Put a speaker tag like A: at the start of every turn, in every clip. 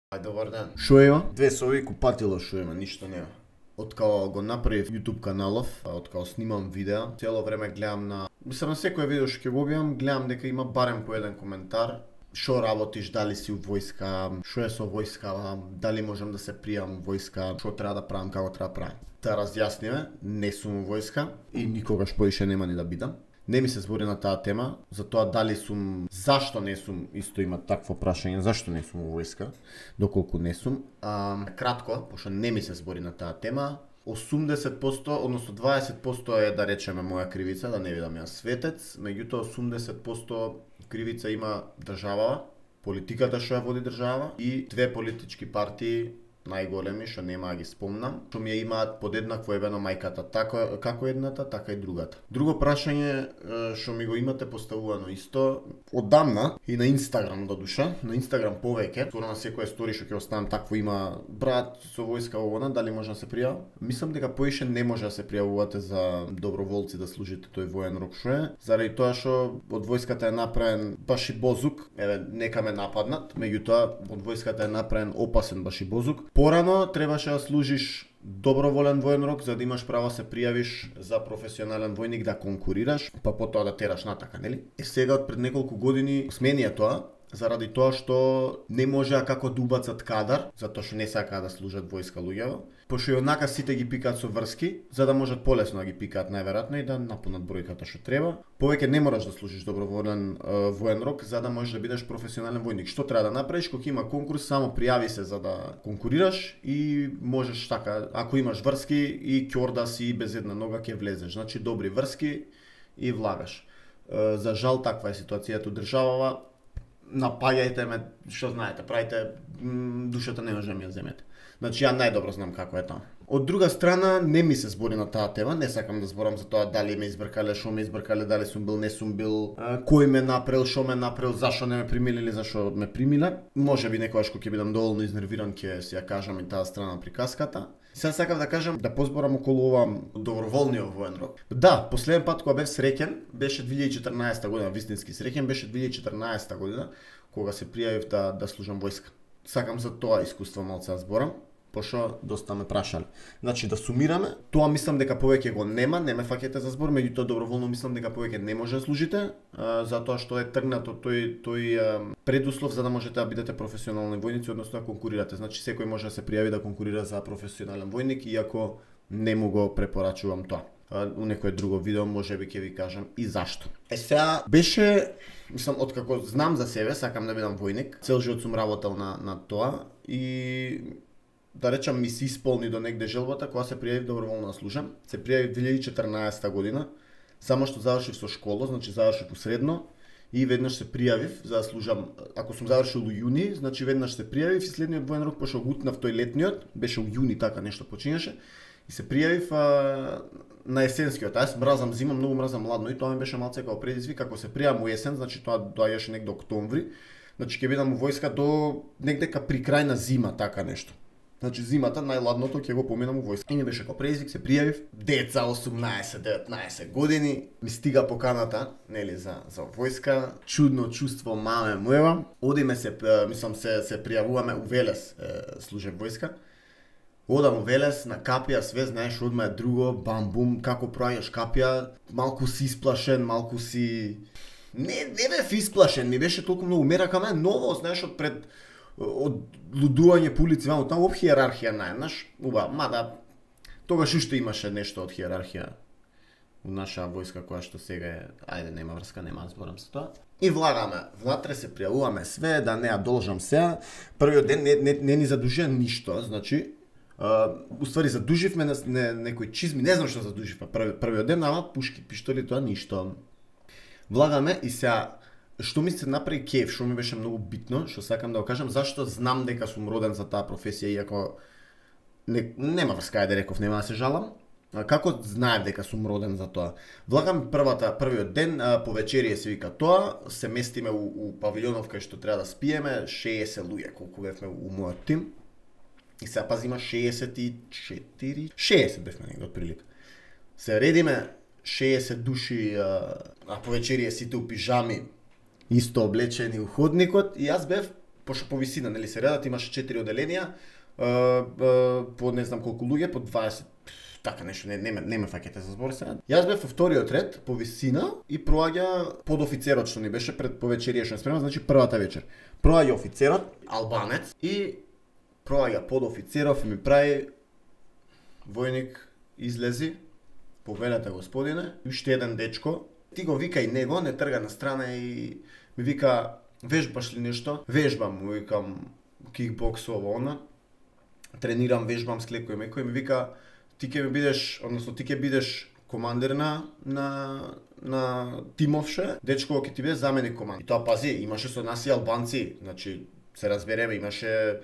A: Ај, добар ден. Шо има? Две соби купатило шо има, ништо нема. Откако го направив YouTube каналов, откако снимам видеа, цело време гледам на секој видео што ќе го објавам, гледам дека има барем по еден коментар. Шо работиш, дали си у војска, шо е со војска, дали можам да се пријавам у војска, шо треба да правам, како треба да правам. Да разјасниме, не сум у војска и никогаш поише нема ни да бидам. Не ми се збори на таа тема, за тоа дали сум, зашто не сум, исто има такво прашање, зашто не сум у војска, доколку не сум. Кратко, пошто не ми се збори на таа тема, 80%, односно 20% е, да речеме, моја кривица, да не видам јас светец, меѓутоа 80% кривица има државава, политиката што ја води држава и две политички партии најголеми, што нема да ги спомнам, што ми ја имаат подеднакво ебено мајката, како едната, така и другата. Друго прашање што ми го имате поставувано исто оддамна и на Инстаграм додуша, на Инстаграм повеќе, скоро на секоја стори што ќе оставам такво има брат со војска овона, дали може да се пријавам? Мислам дека поише не може да се пријавувате за доброволци да служите тој воен рок што е, заради тоа што од војската е направен башибозук, еве нека ме нападнат, меѓутоа од војската е направен опасен башибозук. Порано требаше да служиш доброволен воен рок за да имаш право да се пријавиш за професионален војник да конкурираш, па потоа да тераш натака, нели? Сега пред неколку години смени е тоа, заради тоа што не можеа како да убацат кадар, затоа што не сакаа да служат војска луѓето, пошто и однака сите ги пикаат со врски, за да можат полесно да ги пикаат најверојатно и да напунат бројката што треба. Повеќе не мораш да служиш доброволен воен рок за да можеш да бидеш професионален војник. Што треба да направиш кога има конкурс, само пријави се за да конкурираш и можеш така, ако имаш врски и ќорда си и без една нога ќе влезеш. Значи добри врски и влагаш. За жал таква е ситуацијата у државава. Напаѓајте ме, што знаете, правите, душата не може да ми ја земете. Значи ја најдобро знам како е таму. Од друга страна, не ми се збори на таа тема, не сакам да зборам за тоа дали ме избркале, шо ме избркале, дали сум бил, не сум бил, кој ме направил, шо ме направил, зашо не ме примиле или зашо ме примиле. Може би некогаш кога ќе бидам доволно изнервиран ќе си ја кажам и таа страна на приказката. Сега сакав да кажам да позборам околу ова доброволниот воен рок. Да, последен пат кога бев среќен беше 2014 година, вистински среќен беше 2014 година кога се пријавив да служам војска. Сакам за тоа искуство малце да зборам, пошто доста ме прашале. Значи да сумираме, тоа мислам дека повеќе го нема, не ме фаќате за збор, меѓутоа доброволно мислам дека повеќе не може да служите, затоа што е тргнато тој предуслов за да можете да бидете професионални војници, односно да конкурирате. Значи секој може да се пријави да конкурира за професионален војник, иако не му го препорачувам тоа. У некое друго видео можеби ќе ви кажам и зашто. Сега беше, мислам, откако знам за себе, сакам да бидам војник, цел живот сум работел на тоа и да речам ми се исполни до негде желбата кога се пријавив доброволно да служам. Се пријавив 2014 година, само што завршив со школа, значи завршив у средно и веднаш се пријавив за да служам. Ако сум завршил у јуни, значи веднаш се пријавив и следниот воен рок пошто го утнав тој летниот, беше у јуни така нешто почињаше и се пријавив на есенскиот. Јас мразам зима, многу мразам ладно и тоа ми беше малце како предизвик. Ако се пријавам у есен, значи тоа доаѓаше негде октомври, значи ќе бидам у војска до негде при крај на зима, така нешто. Значи зимата најладното ќе го поминам у војска. И ми беше како предизвик, се пријавив. Деца 18-19 години, ми стига поканата, нели за војска. Чудно чувство, маме моева. Одиме се, мислам се пријавуваме у Велес, служев војска. Одам у Велес на капија, све знаеш одма е друго, бам-бум, како проаѓаш капија, малку си исплашен, малку си... Не бев исплашен, ми беше толку многу мерака ме ново, знаеш, од лудување по улици, ваму таму об хиерархија најднаш, мада тогаш уште имаше нешто од хиерархија у наша војска која што сега е, ајде нема врска, нема да зборам за тоа. И влагаме, внатре се пријавуваме све, да не ја должам сега. Првиот ден не ни задужија ништо, значи уствари задуживме некои чизми, не знам што задуживме првиот ден, ама пушки, пиштоли, тоа ништо. Влагаме и сега што ми се направи кеф, што ми беше многу битно, што сакам да го кажам, зашто знам дека сум роден за таа професија, иако нема врска да реков, нема да се жалам. Како знаев дека сум роден за тоа? Влагам првиот ден, по вечерие се вика тоа, се местиме у павилјонов кај што треба да спиеме, 60 луѓе колку бевме у мојот тим. И сега пази има 60 бевме негде отприлика. Се редиме 60 души, а по вечерие сите у пижами, исто облечени у ходникот и јас бев пошто по висина, нели се редат, имаше 4 оделенија, по не знам колку луѓе, по 20, така нешто, не ме фаќате за збор сега. Јас бев во вториот ред по висина и проаѓа подофицерот што ни беше пред повечерија што спрема, значи првата вечер. Проаѓа офицерот, албанец, и проаѓа подофицеров и ми прави војник излези, повелете господине, уште еден дечко, ти го вика и него, не трга на страна и ми вика, вежбаш ли нешто? Вежбам, му викам, кикбокс ово она, тренирам, вежбам с клекој мекој, ми вика, ти ќе бидеш командир на тимовше, дечко ќе ти биде заменик командир. И тоа пази, имаше со нас и албанци, значи се разбереме, имаше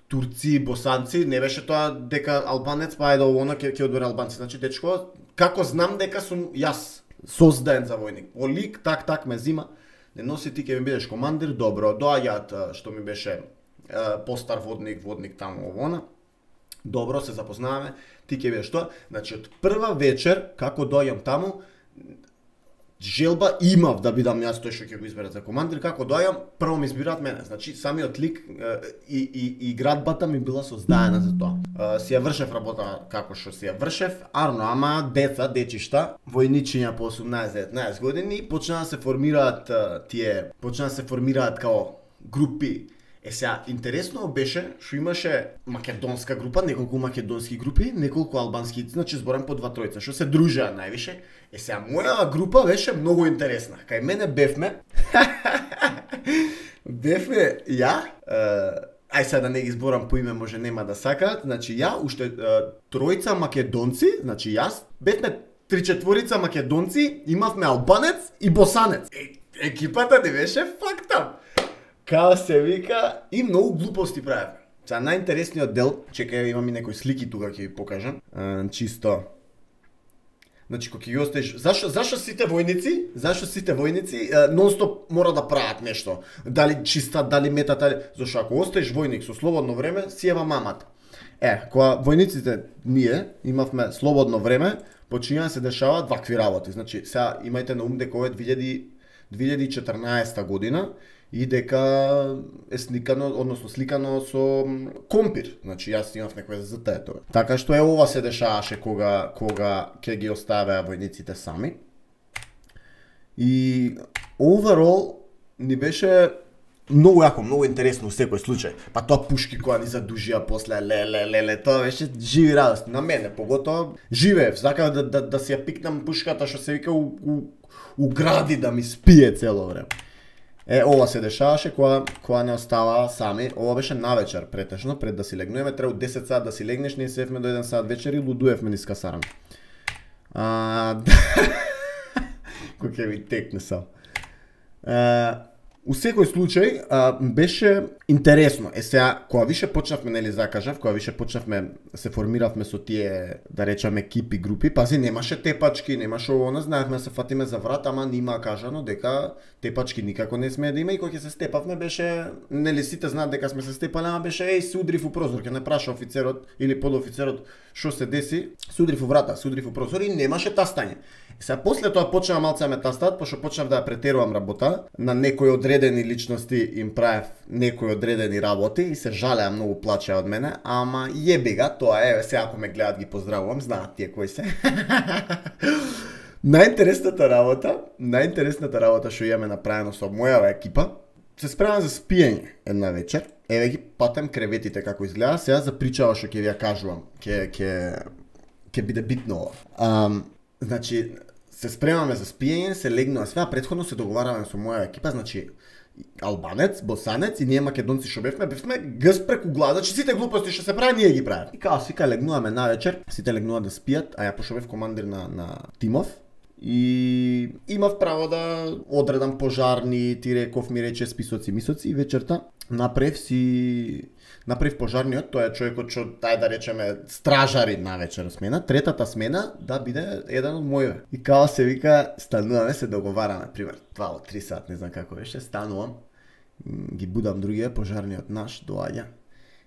A: турци, босанци, не беше тоа дека албанец па ајде ово ќе одбере албанци. Значи дечко, како знам дека сум јас создаден за војник. Олик так ме зима, не носи ти ќе ми бидеш командир, добро, доаѓаат што ми беше постар водник таму ово. Добро, се запознаваме, ти ќе бидеш тоа. Значи од прва вечер како доаѓам таму, желба имав да бидам јас тој што ќе го изберат за командир, како доаѓам, прво ми избираат мене. Значи самиот лик и градбата ми била создадена за тоа. Си ја вршев работа како што си ја вршев, ама дечишта, војничиња по 18-19 години почнаа да се формираат као групи. Сега, интересно беше што имаше македонска група, неколку македонски групи, неколку албански, значи зборам по 2-3, што се дружеа највише. Сега, моја група беше многу интересна. Кај мене бевме ја, ај сега да не ги зборам по име, може нема да сакаат, значи ја, уште тројца македонци, значи јас, бевме 3-4 македонци, имавме албанец и босанец. Екипата не беше факта. Као се вика, и многу глупости правевме. Сега најинтересниот дел, чекај, имам и некои слики тука ќе ви покажам, чисто. Значи кога ќе ги оставиш, зашо сите војници нонстоп мора да прават нешто, дали чиста, дали метат, дали, зашто ако оставиш војник со слободно време, си ева мамата. Кога војниците ние имавме слободно време, почињаа се дешаваат вакви работи. Значи сега имајте на ум дека ова е 2014 година, и дека е сликано со компир. Значи јас имав некој за тоа. Така што ова се дешаваше кога ќе ги оставеа војниците сами. И overall ни беше многу јако, многу интересно во секој случај. Па тоа пушки која ни задужија после леле, тоа беше живи радост. На мене поготоа живеев, сакав да си ја пикнам пушката што се вика у гради да ми спие цело време. Ова се дешаваше кога не оставаа сами. Ова беше навечер претежно, пред да си легнуваме, треба 10 сат да си легнеш, ние севме до 1 сат вечер и лудуевме низ касарам. Кој ќе ви текне сам. У секој случај беше интересно. Сега кога више почнавме, нели закажав, кога више почнавме се формиравме со тие, да речеме, екипи, групи, пази немаше тепачки, немаше ово, знаевме да се фатиме за врат, ама нима кажано дека тепачки никако не смее да има, и кога ќе се степавме беше, нели сите знаат дека сме се степале, ама беше се удрив у прозор, ќе не праша офицерот или подофицерот што се деси, се удрив у врата, се удрив у прозор и немаше тастање. Сега после тоа почнаа малце ме тастат, пошто почнав да ја претерувам работа, на некои одредени личности им правев некои одредени работи и се жалеа, многу плачеа од мене, ама јеби га, тоа е, сега ако ме гледат ги поздравувам, знаат тие кои се. Најинтересната работа што имаме направено со мојава екипа, се спремам за спиење една вечер. Еве ги патем креветите како изгледа, сега за причава што ќе ви ја кажувам, ќе биде битно ова. Значи, се спремаме за спиење, се легнува све, а претходно се договараме со моја екипа, значи албанец, босанец и ние македонци што бевме гъс преку глава, значи сите глупости што се прави ние ги правиме. И као сика легнуваме навечер, сите легнуваат да спијат, а ја пошто бев командир на тимов и имав право да одредам пожарни, ти реков ми рече списоци, мисоци и вечерта направив пожарниот, тоа е човекот што да речеме стражари на вечер смена, третата смена да биде еден од моје. И као се вика, стануваме, се договараме, пример 2-3 сат, не знам како беше, станувам, ги будам другија, пожарниот наш доаѓа.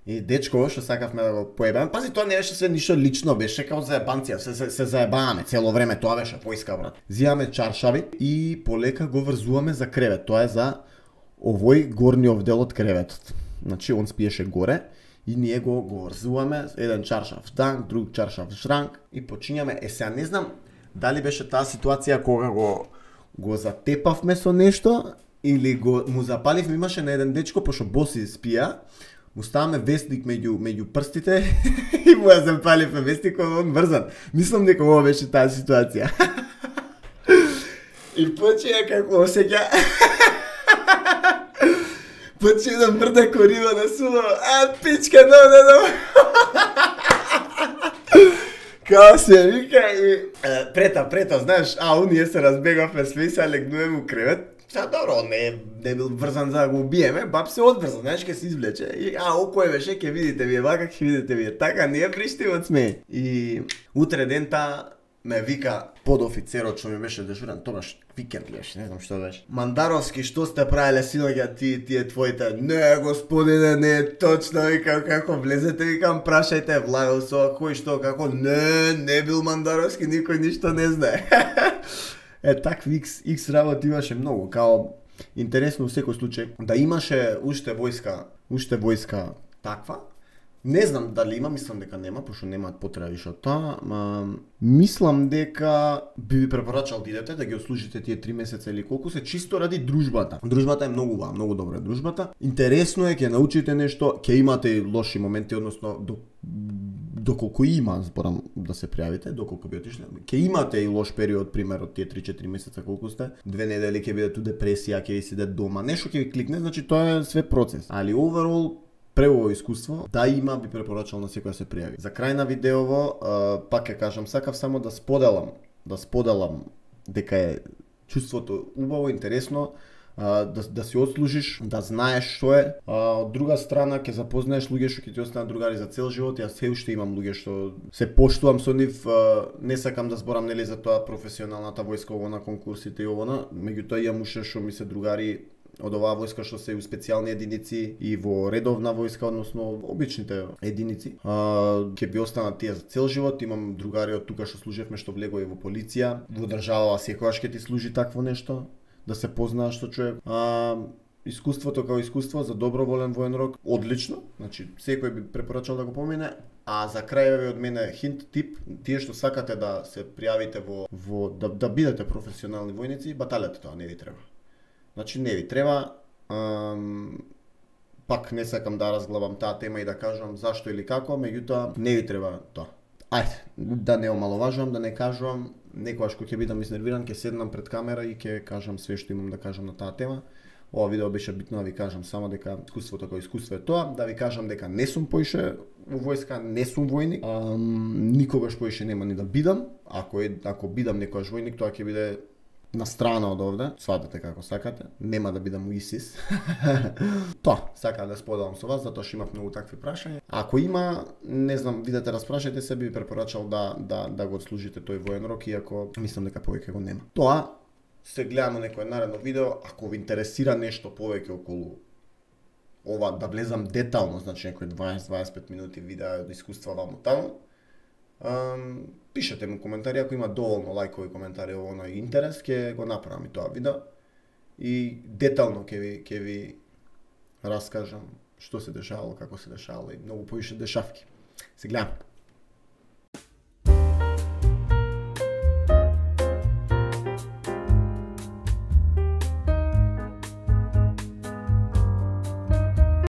A: И дечко што сакавме да го поебаме, пази тоа не беше све ништо лично, беше како заебанција, се заебаваме цело време, тоа беше поиска брат. Зијаме чаршави и полека го врзуваме за кревет, тоа е за овој горниот дел од креветот. Значи он спиеше горе и ние го врзуваме, еден чаршаф танк, друг чаршаф шранк и почињаме. Сега не знам дали беше таа ситуација кога го затепавме со нешто или му запаливме, имаше на еден дечко пошто боси спија, му ставаме вестник меѓу прстите и му ја запаливме вестникот, он врзан. Мислам дека ова беше таа ситуација. И почеја како осеќа. Почеја да мрда корива на суло. Пичка, no. Као се вика и... Прета, знаеш, ние се разбегавме све и се легнуваме у кревет. Сега добро, не бил врзан за да го убиеме, баб се одврзан, знаеш, ке се извлече. И кој беше, ке видите вие вака, ке видите вие така, ние пришти од смеј. И утре дента ме вика подофицерот што ми беше дежурен, тогаш викенд беше, не знам што беше. Мандаровски, што сте правеле синоќа тие твоите? Не, господине, не е точно, викам, како влезете, викам, прашајте, Владо со кој што, како, не бил Мандаровски, никој ништо не знае. Такви X работи имаше многу, као интересно во секој случај да имаше уште војска таква. Не знам дали има, мислам дека нема, пошто немаат потреба више од тоа, мислам дека би ви препорачал да идете, да ги отслужите тие 3 месеца или колку се, чисто ради дружбата. Дружбата е многу убава, многу добра е дружбата. Интересно е, ќе научите нешто, ќе имате и лоши моменти, односно доколку има, зборам да се пријавите, доколку би отишле, ќе имате и лош период, пример од тие 3-4 месеца колку сте, 2 недели ќе бидете у депресија, ќе ви седете дома, нешто ќе ви кликне, значи тоа е све процес. Али overall преубаво искуство, да има, би препорачал на секој да се пријави. За крај на видеово, пак ќе кажам, сакав само да споделам дека е чувството убаво, интересно, да си отслужиш, да знаеш што е. Од друга страна ќе запознаеш луѓе што ќе ти останат другари за цел живот. Јас се уште имам луѓе што се поштувам со нив, не сакам да зборам нели за тоа професионалната војска, ово на конкурсите и ово, меѓутоа имам уште што ми се другари од оваа војска што се у специјални единици и во редовна војска, односно обичните единици. Ќе би останат тие за цел живот. Имам другари од тука што служевме, што влегоа и во полиција. Во држава секогаш ќе ти служи такво нешто, да се познаеш со човек. Искуството како искуство за доброволен воен рок, одлично. Значи секој би препорачал да го помине. А за крај од мене хинт, тип, тие што сакате да се пријавите да бидете професионални војници, баталете тоа, не ви треба. Значи не ви треба, пак не сакам да разглабам таа тема и да кажувам зашто или како, меѓутоа не ви треба тоа. Ајде, да не омаловажувам, да не кажувам, некогаш кога ќе бидам изнервиран, ќе седнам пред камера и ќе кажам све што имам да кажам на таа тема. Ова видео беше битно да ви кажам само дека искуството како искуство е тоа, да ви кажам дека не сум поише во војска, не сум војник, никогаш поише нема ни да бидам. Ако бидам некојаш војник, тоа ќе биде на страна од овде, сватате како сакате, нема да бидам у ИСИС. Тоа, сакам да споделам со вас, затоа што имав многу такви прашања. Ако има, не знам, видете, распрашајте се, би препорачал да го отслужите тој воен рок, иако мислам дека повеќе го нема. Тоа, се гледаме некој наредно видео, ако ви интересира нешто повеќе околу ова, да влезам детално, значи некој 20-25 минути видео од искуства ваму таму, пишете му коментари, ако има доволно лајкови коментари ово на интерес, ќе го направам и тоа видео и детално ќе ви раскажам што се дешавало, како се дешавало и многу поише дешавки. Се гледам.